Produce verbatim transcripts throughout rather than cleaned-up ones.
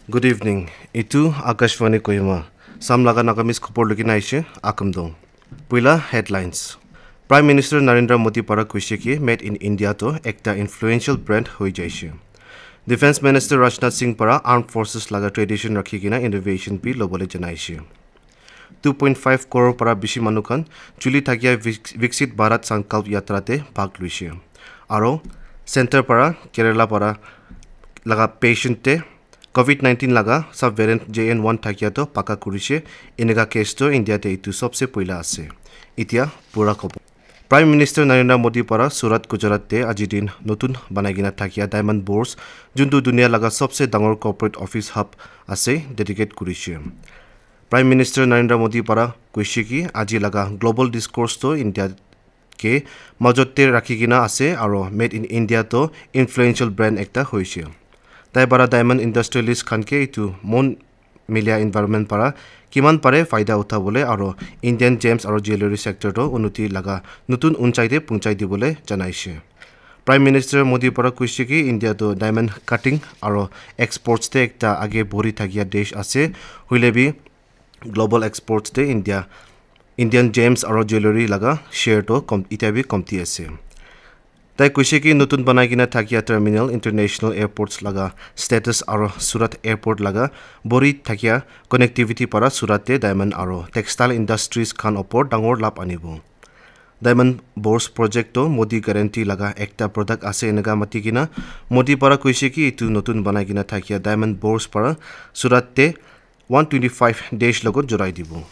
Good evening. Itu Akashvani Kohima. Sam laga Nagamese khobor lukina aishe, Akamdong. Puila headlines. Prime Minister Narendra Modi para kuishe ki Made in India to ekta influential brand hoi jaishe. Defense Minister Rajnath Singh para Armed Forces laga tradition rakhi kena innovation bi lobole janaishe. Two point five crore para bishi manu khan chuli thakia Vik-, Viksit Bharat Sankalp Yatra te bhag luishe. Aro center para Kerala para laga patient te covid nineteen laga subvariant J N one thakia to paka kurishe. Eneka case to India te itu sobse poila ase. Itia pura khobor. Prime Minister Narendra Modi para Surat, Gujarat te aji din notun banai kena thakia Diamond Bourse, juntu dunia laga sobse dangor corporate office hub ase, dedicate kurishe. Prime Minister Narendra Modi para kuishe ki aji laga global discourse to India ke majot te rakhi kena ase aro Made in India to influential brand ekta hoishe. Tai para diamond industrialist khan ke itu mon milia environment para kiman pare faida uthabole aro Indian gems aro jewellery sector to unnoti laga notun unchai te punchai dibole janaishe. Prime Minister Modi para kuishe ki India to diamond cutting aro exports te ekta age bori thakia desh ase, hoile bi global exports te India, Indian gems aro jewellery laga share to kom, itia bi komti ase. Tai kuishe ki notun banai kena thakia terminal international airports laga status aro Surat airport laga bori thakia connectivity para Surat te diamond aro textile industries khan opor dangor lab anibo. Diamond Bourse project to Modi guarantee laga ekta product ase eneka mati kena Modi para kuishe ki itu notun banai kena thakia Diamond Bourse para Surat te one twenty five desh logot jorai dibo.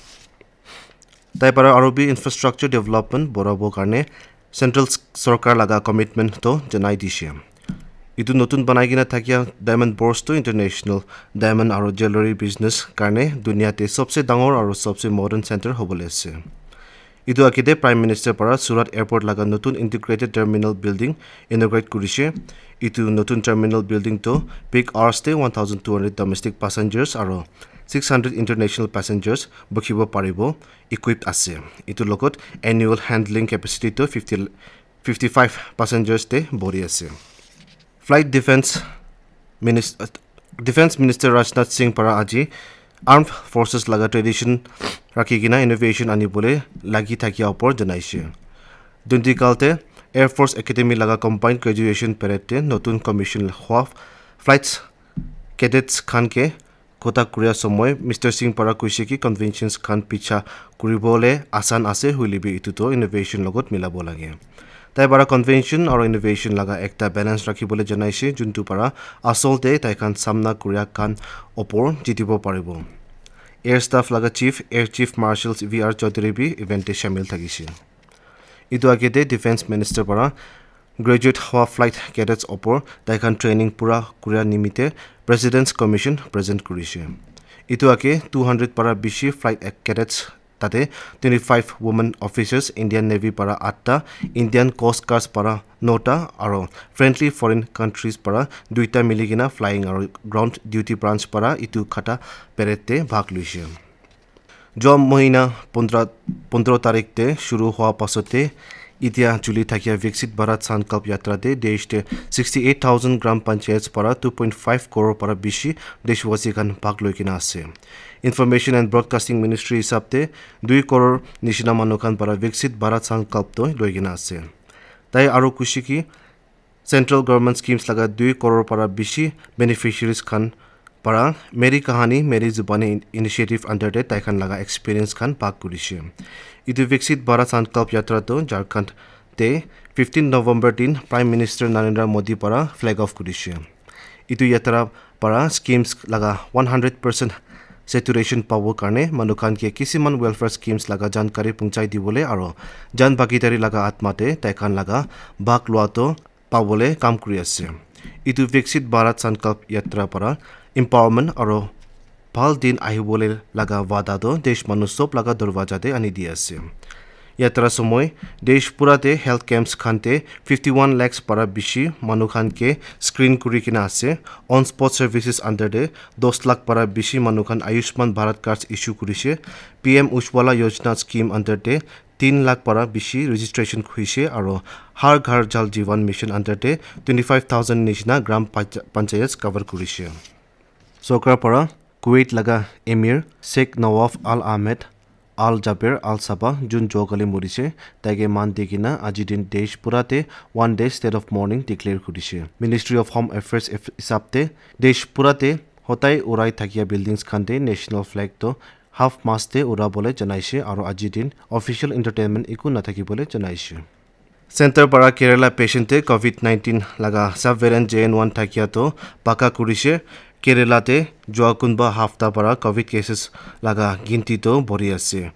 Tai para aro bi infrastructure development borabo karne central s-, sorkar laga commitment to janai dishe. Itu notun banai kena thakia Diamond Bourse to international diamond aro jewellery business karne dunia te sobse dangor aro sobse modern center hobole ase. Itu age te Prime Minister para Surat Airport laga notun integrated terminal building inaugurate kurishe. Itu notun terminal building to peak hours te one thousand two hundred domestic passengers aro six hundred international passengers bukhibo paribo, equipped ase. Itu logot annual handling capacity to fifty, fifty five passengers te bori ase. Flight Defense Minis-, Defense Minister Rajnath Singh para aji Armed Forces laga tradition rakhi kena innovation anibole lagi thakia opor janaishe. Dundigal te Air Force Academy laga combined graduation parade te notun commission hua flights cadets khan ke kotha kuria somoy Mister Singh para kuishe ki conventions khan picha kuribole asan ase, hoile bi itu to innovation logot milabo lage. Tai para convention aro innovation laga ekta balance rakhibole janaishe, juntu para asol te tai khan samna kuria khan opor jitibo paribo. Air Staff laga Chief, Air Chief Marshal V R Chaudhary bi event te shamil thakishe. Itu age te Defense Minister para graduate hua flight cadets opor tai khan training pura kuria nimite President's Commission present kurishe. Itu age two hundred para bishi flight cadets tate twenty five women officers, Indian Navy para atta, Indian Coast Guards para nota, aro friendly foreign countries para duita mili kena flying aro ground duty branch para itu khata parade te bhag luishe. Jua mohina pondra, pondro tarik te shuru hua pasote itia chuli thakia Viksit Bharat Sankalp Yatra te desh te sixty eight thousand gram panchayats para two point five crore para bishi deshwasi khan bhag loi kena ase. Information and Broadcasting Ministry hisab te dui crore nishina manu khan para Viksit Bharat Sankalp to loi kena ase. Tai aro kuishe ki central government schemes laga dui crore para bishi beneficiaries khan para Meri Kahani Meri Zubani initiative under te tai khan laga experience khan bhag kurishe. Itu Viksit Bharat Sankalp Yatra to Jharkhand te fifteen November din Prime Minister Narendra Modi para flag off kurishe. Itu yatra para schemes laga one hundred percent saturation pabo karne manu khan ke kisiman welfare schemes laga jankari punchai dibole aro jan bhagidari laga atma te tai khan laga bhag lua to pabole kam kuri ase. Itu Viksit Bharat Sankalp Yatra para empowerment aro bhal din ahibole laga wada to desh manu sob laga dorwaja te ani di ase. Yatra somoy desh pura te health camps khan te fifty one lakhs para bishi manu khan ke screen kuri kena ase. On spot services under te dos lakh para bishi manu khan Ayushman Bharat cards issue kurishe. P M Ujjwala Yojana scheme under te tin lakh para bishi registration hoishe aro Har Ghar Jal Jeevan Mission under te twenty five thousand nishina gram pancha-, panchayats cover kurishe. Sorkar para Kuwait laga Emir Sheikh Nawaf Al Ahmed Al Jaber Al Sabah, jun jua kali morise, taike maan di kena aji din desh pura te one day state of mourning declare kurise. Ministry of Home Affairs hisab te desh pura te hotai urai thakia buildings khan te national flag to half mast te ura bole janaise aru aji din official entertainment eku nathaki bole janaise. Center para Kerala patient te covid nineteen laga subvariant J N one thakia to paka kurise. Kerala te jua kunba hafta para covid cases laga ginti to bori ase.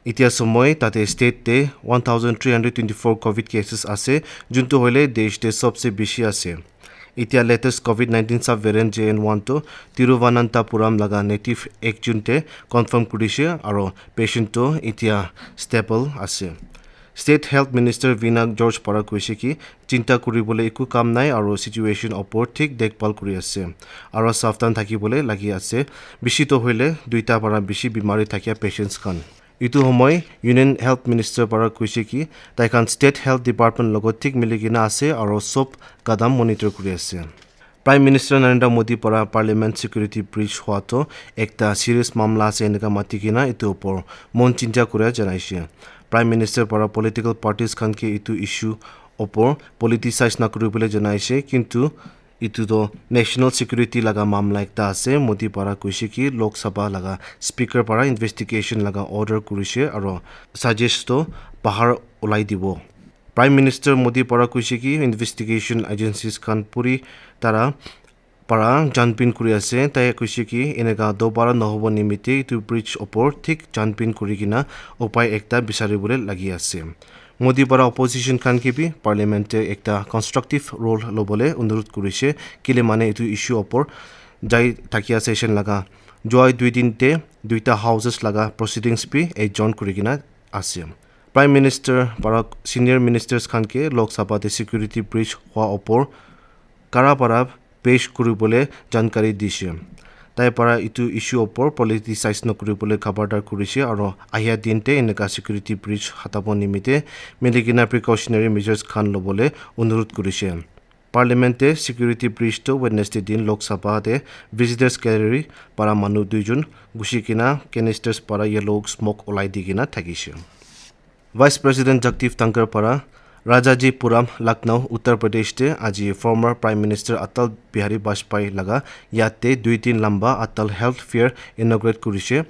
Itia somoi tate state te one thousand three hundred twenty-four covid cases ase, juntu hoile desh te sobse bishi ase. Itia latest covid nineteen subvariant J N one to Tiruvananthapuram laga native ekjun te confirm kurise aro patient to itia stable ase. State Health Minister Veena George para koise ki chinta kuribole eku kam nai aro situation opor thik dekhbhal kuri ase aro savdhan thakibole lagi ase. Bishi to hoile duita para bishi bimari thakia patients khan. Itu homoi Union Health Minister para koise ki taikhan State Health Department logot thik mili kena ase aro sob kadam monitor kuri ase. Prime Minister Narendra Modi para Parliament Security Breach hua to ekta serious mamla ase enika mati kena itu opor mon chinta kuria janaise. Prime Minister para political parties khan ke itu issue opor politicize na kuribole janaise, kintu itu to national security laga mamla ekta ase. Modi para koise ki Lok Sabha laga speaker para investigation laga order kurise aro suggest to bahar ulai dibo. Prime Minister Modi para koise ki investigation agencies khan puri tara para janpin kuri ase. Tai koise ki eneka dobara nohobo nimite itu breach opor thik janpin kuri kena upai ekta bisari bole lagi ase. Modi para opposition khan ke bi parliament te ekta constructive role lobole onurod kurise, kile mane itu issue opor jai thakia session laga jua dui din te duita houses laga proceedings bi adjourn kuri kena ase. Prime Minister para senior ministers khan ke Lok Sabha te security breach hua opor kara para pesh kuribole jankari dishe. Tai para itu issue opor politicize nokuribole khabardar kurishe aro ahia din te eneka security breach hatabo nimite milikena precautionary measures khan lobole onurod kurishe. Parliament te security breach to Wednesday din Lok Sabha te visitors gallery para manu duijon gushi kena canisters para yellow smoke olai di kena thakishe. Vice President Jagdeep Dhankhar para Rajajipuram, Lucknow, Uttar Pradesh te aji former Prime Minister Atal Bihari Vajpayee laga yat te dui din lamba Atal Health Fair inaugurate kurishe.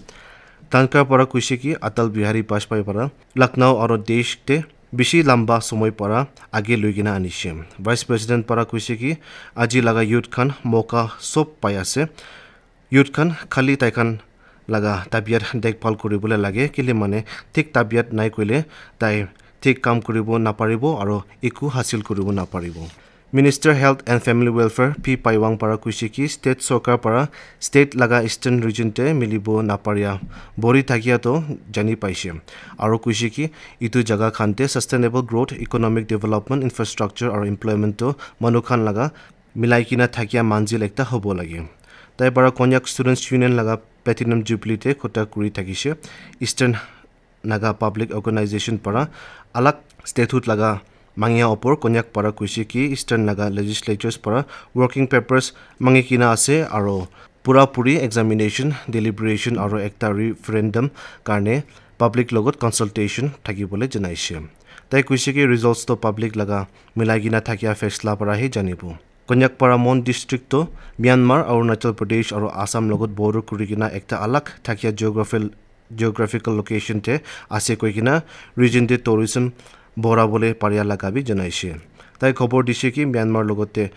Dhankhar para koishe ki Atal Bihari Vajpayee para Lucknow aro desh te bishi lamba somoi para age loi kena anishe. Vice President para koishe ki aji laga youth khan moka sob pai ase. Youth khan khali tai khan laga tabiat dekhbhal kuribole lage, kile mane thik tabiat nai koile tai thik kam kuribo naparibo aro eku hasil kuribo naparibo. Minister Health and Family Welfare P Paiwang para koishe ki state sorkar para state laga eastern region te milibo naparia bori thakia to jani paishe aro koishe ki itu jaga khan te sustainable growth, economic development, infrastructure aro employment to manu khan laga milai kena thakia manzil ekta hobo lage. Tai para Konyak Students Union laga Platinum Jubilee te kotha kuri thakishe. Eastern Naga Public Organization para alag statehood laga mangia opor Konyak para koishe ki Eastern Naga legislatures para working papers mangi kena ase aro pura puri examination, deliberation aro ekta referendum karne public logot consultation thakibole janaishe. Tai koishe ki results to public laga milai kena thakia faisla para he janibo. Konyak para Mon district to Myanmar, Arunachal Pradesh aro Assam logot border kuri kena ekta alag thakia geographical, geographical location te ase koi kena region te tourism bora bole paria laga bi janaishe. Tai khobor dishe ki Myanmar logot te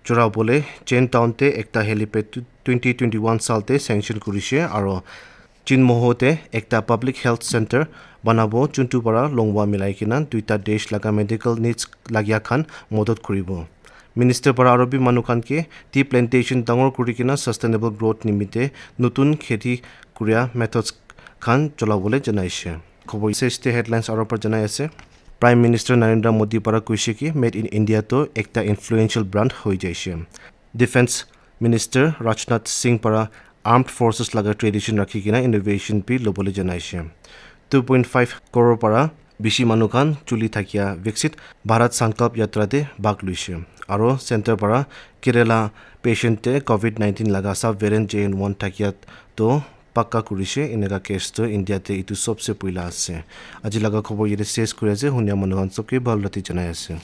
jora bole Chen Town te ekta helipad twenty twenty-one sal te sanction kurishe aro Chinmoho te ekta public health center banabo, juntu para longwa milai kena duita desh laga medical needs lagia khan modot kuribo. Minister para aro bi manu khan ke tea plantation dangor kuri kena sustainable growth nimite notun kheti kuria methods khan cholabole janaishe. Khobor ase te headlines aro para janai ase. Prime Minister Narendra Modi para koishe ki Made in India to ekta influential brand hoi jaishe. Defense Minister Rajnath Singh para armed forces laga tradition rakhi kena innovation bi lobole janaishe. Two point five crore para Bishi manu khan chuli thakia Viksit Bharat Sankalp Yatra te bhag luishe. Aro center para Kerala patient te covid nineteen laga sub variant J N one thakia to pakka kurishe. Eneka case to India te itu sobse puila ase. Aji laga khobor yate ses kuri ase. Hunia manu khan sobke bhal rati janai ase.